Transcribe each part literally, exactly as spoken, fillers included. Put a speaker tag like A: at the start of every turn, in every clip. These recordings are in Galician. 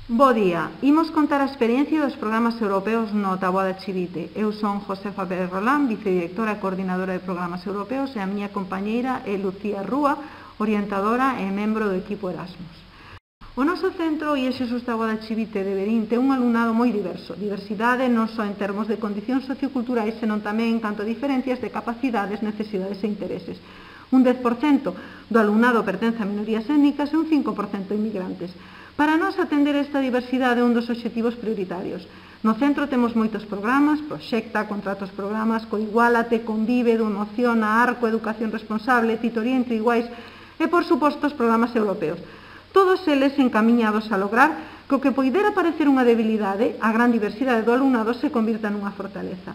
A: Bo día, imos contar a experiencia dos programas europeos no Taboada Chivite. Eu son Josefa Pérez Rolán, vicedirectora e coordinadora de programas europeos, e a miña compañeira é Lucía Rúa, orientadora e membro do equipo Erasmus. O noso centro, I E Xesús Taboada Chivite de Verín, ten un alumnado moi diverso. Diversidade non só en termos de condicións socioculturais, senón tamén en canto a diferencias de capacidades, necesidades e intereses. Un dez por cento do alumnado pertence a minorías étnicas e un cinco por cento inmigrantes. Para nós atender esta diversidade é un dos obxectivos prioritarios. No centro temos moitos programas, Proxecta, Contratos Programas, Coiguálate, Convive, Emociona, Arco, Educación Responsable, Titoría entre Iguais e, por suposto, os programas europeos. Todos eles encamiñados a lograr que o que poidera parecer unha debilidade, a gran diversidade do alumnado se convirta nunha fortaleza.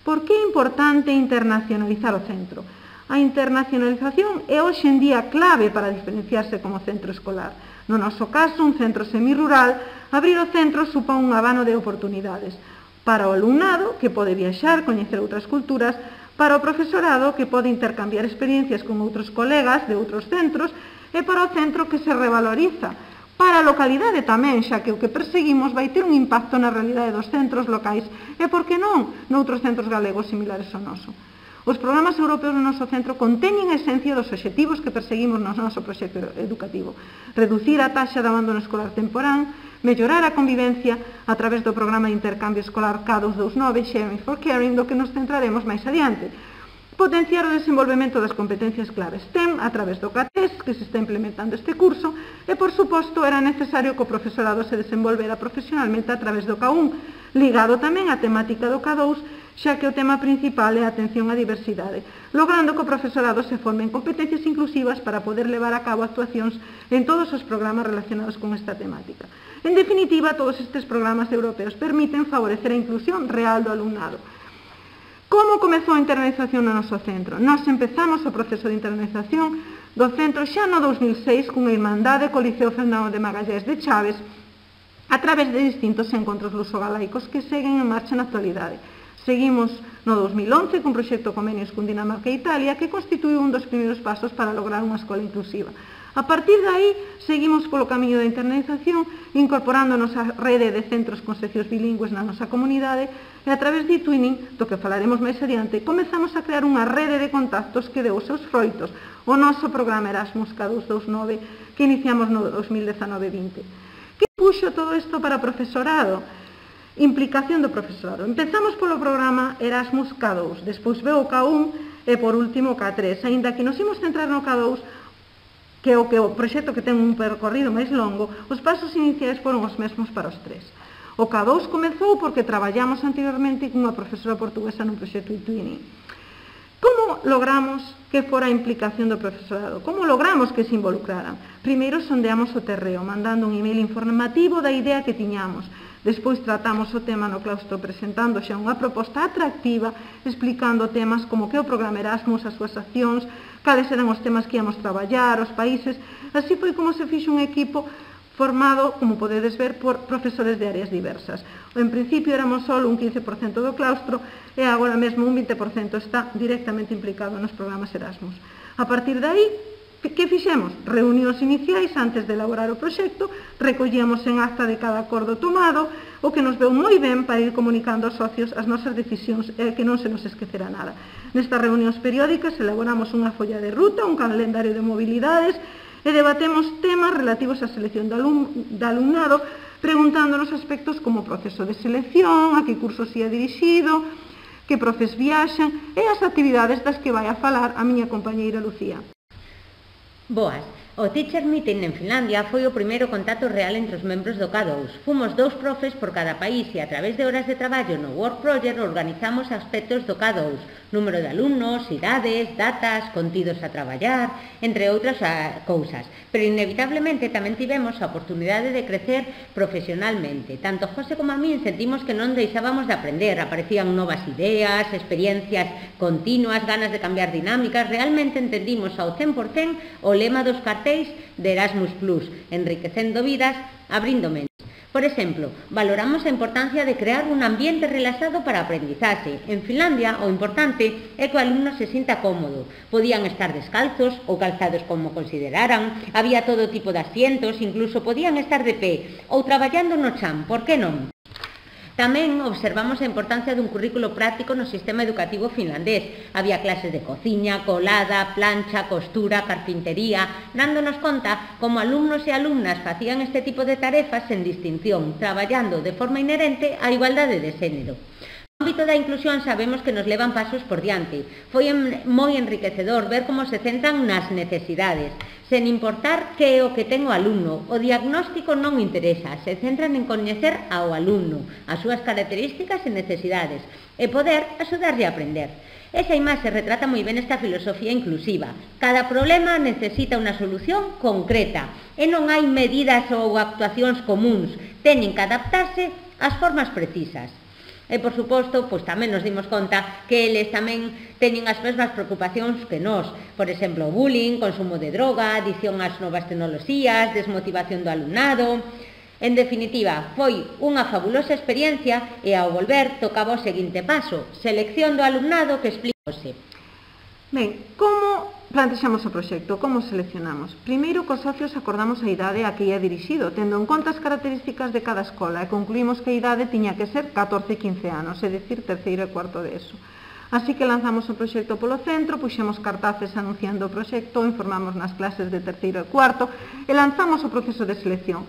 A: Por que é importante internacionalizar o centro? A internacionalización é hoxe en día clave para diferenciarse como centro escolar. No noso caso, un centro semirural, abrir o centro supón un abano de oportunidades para o alumnado, que pode viaxar, coñecer outras culturas, para o profesorado, que pode intercambiar experiencias con outros colegas de outros centros, e para o centro, que se revaloriza, para a localidade tamén, xa que o que perseguimos vai ter un impacto na realidade dos centros locais e, por que non, noutros centros galegos similares ao noso. Os programas europeos no noso centro conteñen a esencia dos obxectivos que perseguimos no noso proxecto educativo. Reducir a taxa de abandono escolar temporán, mellorar a convivencia a través do programa de intercambio escolar K doscientos veintinueve, Sharing for Caring, do que nos centraremos máis adiante. Potenciar o desenvolvemento das competencias claves STEM a través do K tres, que se está implementando este curso, e, por suposto, era necesario que o profesorado se desenvolvera profesionalmente a través do K un, ligado tamén á temática do K dous, xa que o tema principal é a atención á diversidade, logrando que o profesorado se forme en competencias inclusivas para poder levar a cabo actuacións en todos os programas relacionados con esta temática. En definitiva, todos estes programas europeos permiten favorecer a inclusión real do alumnado. Como comezou a internalización no noso centro? Nós empezamos o proceso de internalización do centro xa no dous mil seis cunha irmandade co Liceo Fernando de Magallés de Chaves a través de distintos encontros luso-galaicos que seguen en marcha na actualidade. Seguimos no dous mil once cun proxecto convenios con Dinamarca e Italia que constituiu un dos primeiros pasos para lograr unha escola inclusiva. A partir de aí, seguimos polo camiño da internalización, incorporándonos á rede de centros con seccións bilingües na nosa comunidade e a través de eTwinning, do que falaremos máis adiante, comezamos a crear unha rede de contactos que deu os seus froitos, o noso programa Erasmus K doscientos veintinueve que iniciamos no dos mil dezanove vinte. Que puxo todo isto para o profesorado? Implicación do profesorado. Empezamos polo programa Erasmus K dous, despois veu o K un e por último o K tres. Aínda que nos imos centrar no K dous, que é o, que o proxecto que ten un percorrido máis longo, os pasos iniciais foron os mesmos para os tres. O K dous comezou porque traballamos anteriormente cunha profesora portuguesa nun proxecto eTwinning. Como logramos que fora a implicación do profesorado? Como logramos que se involucraran? Primeiro sondeamos o terreo, mandando un email informativo da idea que tiñamos. Despois tratamos o tema no claustro presentando xa unha proposta atractiva, explicando temas como que o programa Erasmus, as súas accións, cales eran os temas que íamos traballar, os países. Así foi como se fixo un equipo formado, como podedes ver, por profesores de áreas diversas. En principio éramos só un quince por cento do claustro e agora mesmo un vinte por cento está directamente implicado nos programas Erasmus. A partir de aí, que fixemos? Reunións iniciais antes de elaborar o proxecto, recollíamos en acta de cada acordo tomado, o que nos veu moi ben para ir comunicando aos socios as nosas decisións e que non se nos esquecera nada. Nestas reunións periódicas elaboramos unha folla de ruta, un calendario de mobilidades e debatemos temas relativos á selección do alumnado, preguntándonos aspectos como o proceso de selección, a que curso se ia dirixido, que profes viaxan e as actividades das que vai a falar a miña compañeira Lucía.
B: Boas. O Teacher Meeting en Finlandia foi o primeiro contacto real entre os membros do K dous. Fomos dous profes por cada país e a través de horas de traballo no Work Project organizamos aspectos do K dous, número de alumnos, idades, datas, contidos a traballar, entre outras cousas. Pero inevitablemente tamén tivemos a oportunidade de crecer profesionalmente. Tanto José como a min sentimos que non deixábamos de aprender, aparecían novas ideas, experiencias continuas, ganas de cambiar dinámicas. Realmente entendimos ao cen por cen o lema dos cartéis de Erasmus plus, enriquecendo vidas, abrindo mentes. Por exemplo, valoramos a importancia de crear un ambiente relaxado para a aprendizaxe. En Finlandia, o importante é que o alumno se sinta cómodo. Podían estar descalzos ou calzados como consideraran, había todo tipo de asientos, incluso podían estar de pé ou traballando no chan, por que non? Tamén observamos a importancia dun currículo práctico no sistema educativo finlandés. Había clases de cociña, colada, plancha, costura, carpintería, dándonos conta como alumnos e alumnas facían este tipo de tarefas sen distinción, traballando de forma inherente á igualdade de xénero. No ámbito da inclusión sabemos que nos levan pasos por diante. Foi moi enriquecedor ver como se centran nas necesidades, sen importar que é o que ten o alumno. O diagnóstico non interesa, se centran en coñecer ao alumno, as súas características e necesidades, e poder axudarlle a aprender. Esa imaxe retrata moi ben esta filosofía inclusiva. Cada problema necesita unha solución concreta e non hai medidas ou actuacións comuns, teñen que adaptarse ás formas precisas. E, por suposto, pois tamén nos dimos conta que eles tamén teñen as mesmas preocupacións que nós. Por exemplo, bullying, consumo de droga, adición ás novas tecnoloxías, desmotivación do alumnado. En definitiva, foi unha fabulosa experiencia e ao volver tocaba o seguinte paso, selección do alumnado que explicouse.
A: Ben, como plantexamos o proxecto? Como seleccionamos? Primeiro, cos socios acordamos a idade a que ia dirixido, tendo en conta as características de cada escola, e concluímos que a idade tiña que ser catorce a quince anos, é dicir, terceiro e cuarto de eso. Así que lanzamos o proxecto polo centro, puxemos cartaces anunciando o proxecto, informamos nas clases de terceiro e cuarto e lanzamos o proceso de selección,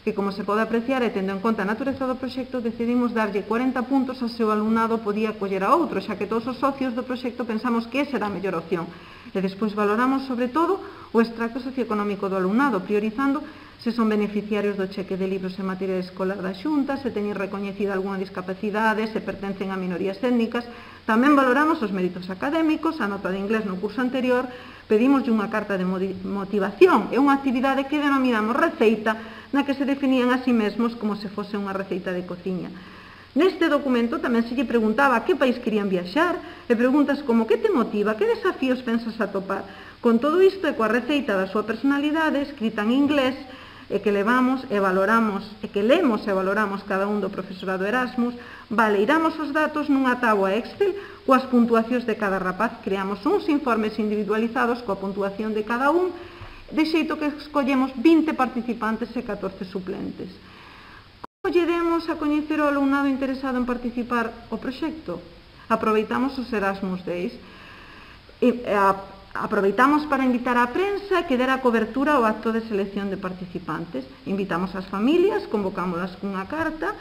A: que, como se pode apreciar e tendo en conta a natureza do proxecto, decidimos darlle corenta puntos ao seu alumnado podía acoller a outro, xa que todos os socios do proxecto pensamos que esa era a mellor opción. E despois valoramos, sobre todo, o extracto socioeconómico do alumnado, priorizando se son beneficiarios do cheque de libros e material escolar da Xunta, se teñen recoñecida algunha discapacidade, se pertencen a minorías étnicas. Tamén valoramos os méritos académicos, a nota de inglés no curso anterior, pedimos unha carta de motivación e unha actividade que denominamos receita, na que se definían a sí mesmos como se fose unha receita de cociña. Neste documento tamén se lle preguntaba a que país querían viaxar e preguntas como que te motiva, que desafíos pensas atopar. Con todo isto e coa receita da súa personalidade escrita en inglés e que levamos e valoramos e que lemos e valoramos cada un do profesorado Erasmus, valeiramos os datos nunha táboa Excel coas puntuacións de cada rapaz, creamos uns informes individualizados coa puntuación de cada un, de xeito que escollemos vinte participantes e catorce suplentes. Como lle demos a coñecer o alumnado interesado en participar o proxecto? Aproveitamos os Erasmus Days. E, a, aproveitamos para invitar á prensa que dera cobertura ao acto de selección de participantes. Invitamos as familias, convocámolas cunha carta,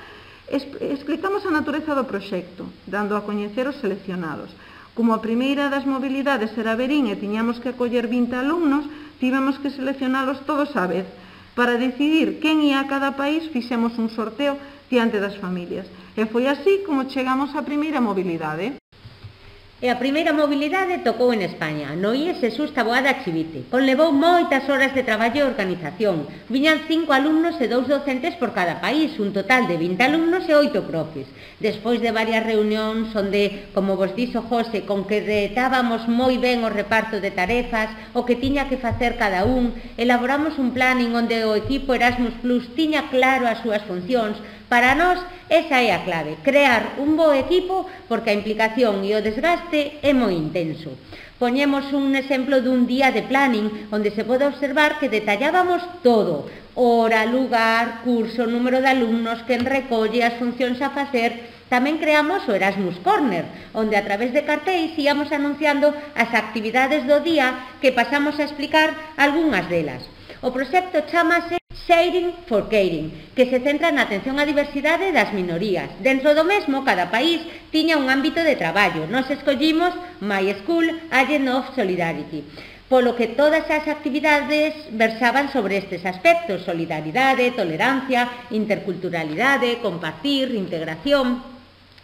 A: explicamos a natureza do proxecto, dando a coñecer os seleccionados. Como a primeira das mobilidades era Verín e tiñamos que acoller vinte alumnos, tivemos que seleccionalos todos á vez. Para decidir quen ia a cada país, fixemos un sorteo diante das familias. E foi así como chegamos á primeira mobilidade.
B: E a primeira mobilidade tocou en España, no I E S Jesús Taboada Chivite. Conlevou moitas horas de traballo e organización. Viñan cinco alumnos e dous docentes por cada país, un total de vinte alumnos e oito profes. Despois de varias reunións onde, como vos dixo José, concretábamos moi ben o reparto de tarefas, o que tiña que facer cada un, elaboramos un planning onde o equipo Erasmus Plus tiña claro as súas funcións. Para nós, esa é a clave, crear un bo equipo porque a implicación e o desgaste é moi intenso. Poñemos un exemplo dun día de planning onde se pode observar que detallábamos todo, hora, lugar, curso, número de alumnos, quen recolle, as funcións a facer. Tamén creamos o Erasmus Corner, onde a través de cartéis íamos anunciando as actividades do día que pasamos a explicar algunhas delas. O proxecto chamase Sharing for Caring, que se centra na atención á diversidade das minorías. Dentro do mesmo, cada país tiña un ámbito de traballo. Nos escollimos My School Agent of Solidarity, polo que todas as actividades versaban sobre estes aspectos: solidaridade, tolerancia, interculturalidade, compartir, integración.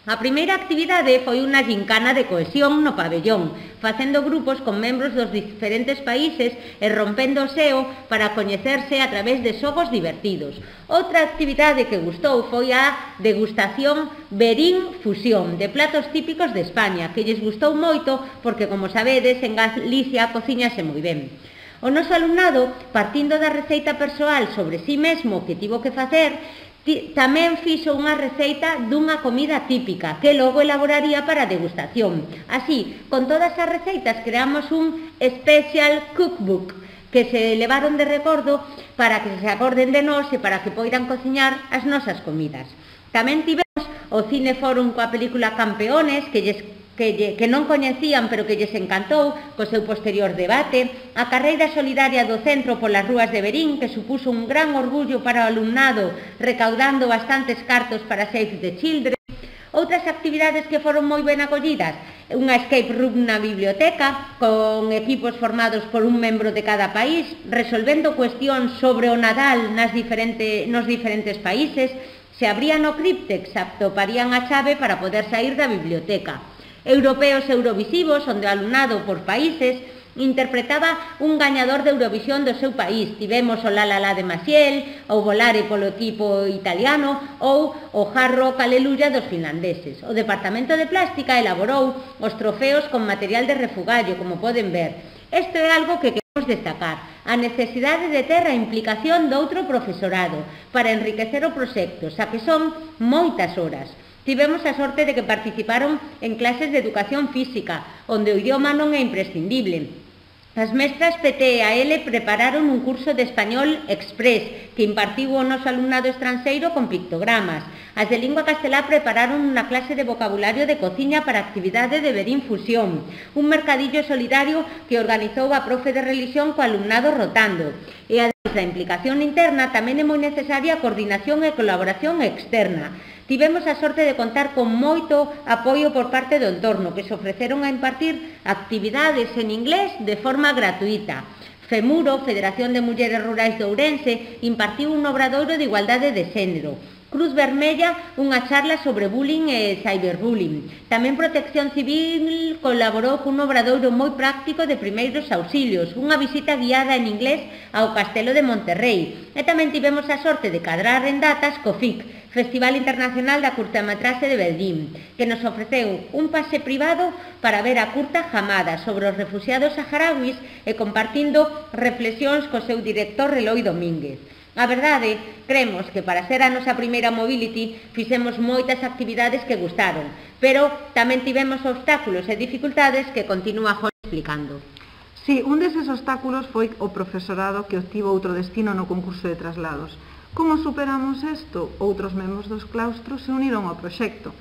B: A primeira actividade foi unha gincana de cohesión no pabellón, facendo grupos con membros dos diferentes países e rompendo o xeo para coñecerse a través de xogos divertidos. Outra actividade que gustou foi a degustación Verín Fusión, de platos típicos de España, que lles gustou moito porque, como sabedes, en Galicia cociñase moi ben. O noso alumnado, partindo da receita persoal sobre si mesmo que tivo que facer, Tamén fixo unha receita dunha comida típica que logo elaboraría para a degustación. Así, con todas as receitas creamos un special cookbook que se levaron de recordo para que se acorden de nós e para que poidan cociñar as nosas comidas. Tamén tivemos o Cineforum coa película Campeones, que lles Que, lle, que non coñecían pero que lles encantou co seu posterior debate, a carreira solidaria do centro polas rúas de Verín, que supuso un gran orgullo para o alumnado, recaudando bastantes cartos para Save the Children. Outras actividades que foron moi ben acollidas, unha escape room na biblioteca, con equipos formados por un membro de cada país, resolvendo cuestións sobre o Nadal nas diferente, nos diferentes países. Se abrían o críptex, atoparían a chave para poder sair da biblioteca. Europeos Eurovisivos, onde o alumnado por países interpretaba un gañador de Eurovisión do seu país. Tivemos o La La La de Maciel, o Volare polo equipo italiano ou o Hard Rock Aleluya dos finlandeses. O Departamento de Plástica elaborou os trofeos con material de refugallo, como poden ver. Isto é algo que queremos destacar, a necesidade de ter a implicación de outro profesorado para enriquecer o proxecto, xa que son moitas horas. Tivemos a sorte de que participaron en clases de educación física, onde o idioma non é imprescindible. As mestras P T A L prepararon un curso de español express que impartiu o noso alumnado estranxeiro con pictogramas. As de lingua castelá prepararon unha clase de vocabulario de cociña para a actividade de Verín Fusión, un mercadillo solidario que organizou a profe de religión co alumnado rotando. E ademais da implicación interna, tamén é moi necesaria a coordinación e colaboración externa. Tivemos a sorte de contar con moito apoio por parte do entorno, que se ofreceron a impartir actividades en inglés de forma gratuita. FEMURO, Federación de Mulleres Rurais de Ourense, impartiu un obradoiro de igualdade de xénero. Cruz Vermella, unha charla sobre bullying e cyberbullying. Tamén Protección Civil colaborou cun obradoiro moi práctico de primeiros auxilios, unha visita guiada en inglés ao Castelo de Monterrey. E tamén tivemos a sorte de cadrar en datas co F I C, Festival Internacional da Curtametraxe de Beldín, que nos ofreceu un pase privado para ver a curta Jamada sobre os refugiados saharauis e compartindo reflexións co seu director Eloi Domínguez. A verdade, cremos que para ser a nosa primeira Mobility fixemos moitas actividades que gustaron, pero tamén tivemos obstáculos e dificultades que continúa Jorge explicando.
A: Sí, un deses obstáculos foi o profesorado que obtivo outro destino no concurso de traslados. Como superamos isto? Outros membros dos claustros se uniron ao proxecto.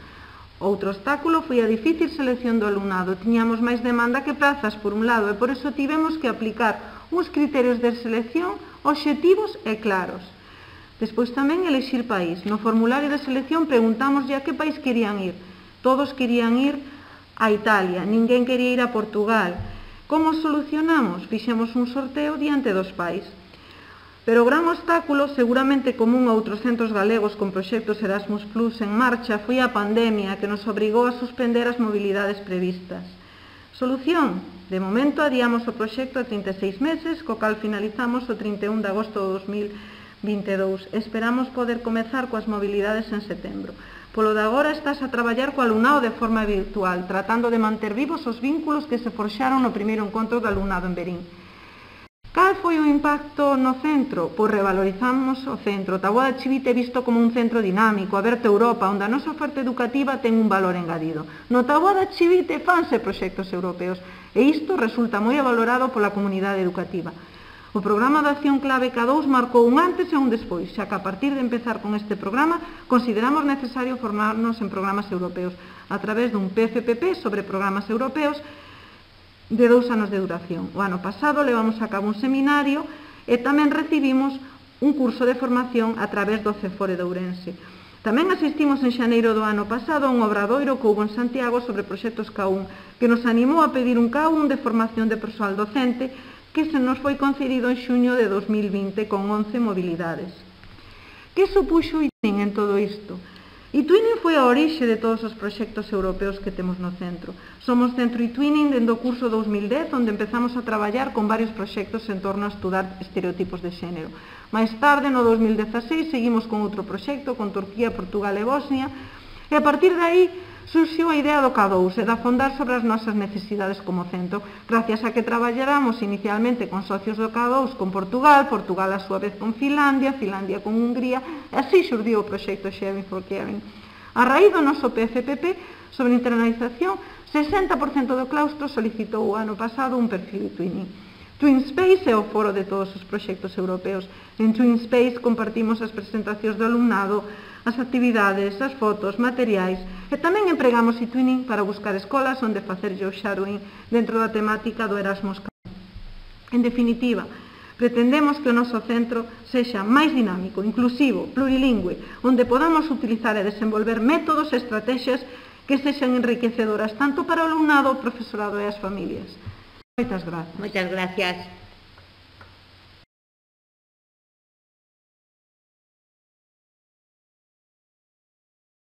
A: Outro obstáculo foi a difícil selección do alumnado. Tiñamos máis demanda que prazas, por un lado, e por iso tivemos que aplicar uns criterios de selección obxectivos e claros. Despois tamén elixir país. No formulario de selección preguntámoslle a que país querían ir. Todos querían ir a Italia, ninguén quería ir a Portugal. Como solucionamos? Fixemos un sorteo diante dos pais. Pero o gran obstáculo, seguramente común a outros centros galegos con proxectos Erasmus Plus en marcha, foi a pandemia que nos obrigou a suspender as mobilidades previstas. Solución? De momento adiamos o proxecto a trinta e seis meses, co cal finalizamos o trinta e un de agosto de dos mil vinte e dous. Esperamos poder comezar coas mobilidades en setembro. Polo de agora estás a traballar co alumnado de forma virtual, tratando de manter vivos os vínculos que se forxaron no primeiro encontro do alumnado en Verín. Cal foi o impacto no centro? Pois revalorizamos o centro. Taboada de Chivite é visto como un centro dinámico, aberto a Europa, onde a nosa oferta educativa ten un valor engadido. No Taboada de Chivite fanse proxectos europeos e isto resulta moi valorado pola comunidade educativa. O programa de acción clave K dous marcou un antes e un despois, xa que a partir de empezar con este programa consideramos necesario formarnos en programas europeos a través dun P F P P sobre programas europeos de dous anos de duración. O ano pasado levamos a cabo un seminario e tamén recibimos un curso de formación a través do Cefore de Ourense. Tamén asistimos en xaneiro do ano pasado a un obradoiro que houbo en Santiago sobre proxectos K un, que nos animou a pedir un K un de formación de persoal docente que se nos foi concedido en xuño de dos mil vinte con once mobilidades. Que supuxo o iTwinning en todo isto? iTwinning foi a orixe de todos os proxectos europeos que temos no centro. Somos centro iTwinning dende o curso dous mil dez, onde empezamos a traballar con varios proxectos en torno a estudar estereotipos de xénero. Mais tarde, no dos mil dezaseis, seguimos con outro proxecto, con Turquía, Portugal e Bosnia, e a partir de aí surxiu a idea do K dous e de afondar sobre as nosas necesidades como centro, gracias a que traballáramos inicialmente con socios do K dous con Portugal, Portugal a súa vez con Finlandia, Finlandia con Hungría, e así xurdiu o proxecto Sharing for Caring. A raíz do noso P F P P sobre internalización, sesenta por cento do claustro solicitou o ano pasado un perfil Twinning. TwinSpace é o foro de todos os proxectos europeos. En TwinSpace compartimos as presentacións do alumnado, as actividades, as fotos, materiais, e tamén empregamos eTwinning para buscar escolas onde facer o shadowing dentro da temática do Erasmus. En definitiva, pretendemos que o noso centro sexa máis dinámico, inclusivo, plurilingüe, onde podamos utilizar e desenvolver métodos e estrategias que sexan enriquecedoras tanto para o alumnado, o profesorado e as familias. Moitas grazas.
B: Moitas gracias.